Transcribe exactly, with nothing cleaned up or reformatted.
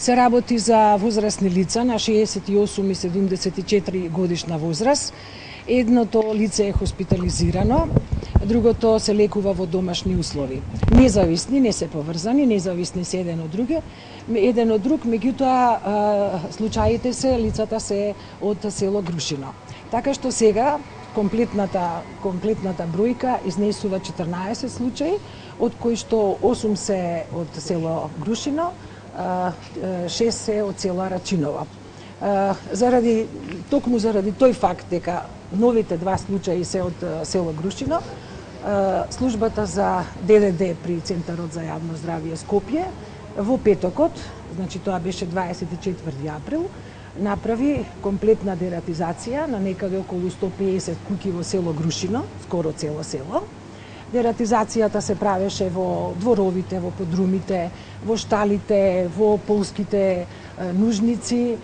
се работи за возрастни лица на шеесет и осум и седумдесет и четири годишна возраст. Едното лице е хоспитализирано, другото се лекува во домашни услови. Независни, не се поврзани, независни се еден од друг, еден од друг, меѓутоа случаите се, лицата се од село Грушино. Така што сега комплетната комплетната бројка изнесува четрнаесет случаи, од кои што осум се од село Грушино, шест се од село Рачиново. Заради токму заради тој факт дека новите два случаи се од село Грушино, службата за Д Д Д при Центарот за јавно здравје Скопје во петокот, значи тоа беше дваесет и четврти април, направи комплетна дератизација на некаде околу сто пеесет куќи во село Грушино, скоро цело село. Дератизацијата се правеше во дворовите, во подрумите, во шталите, во полските нужници.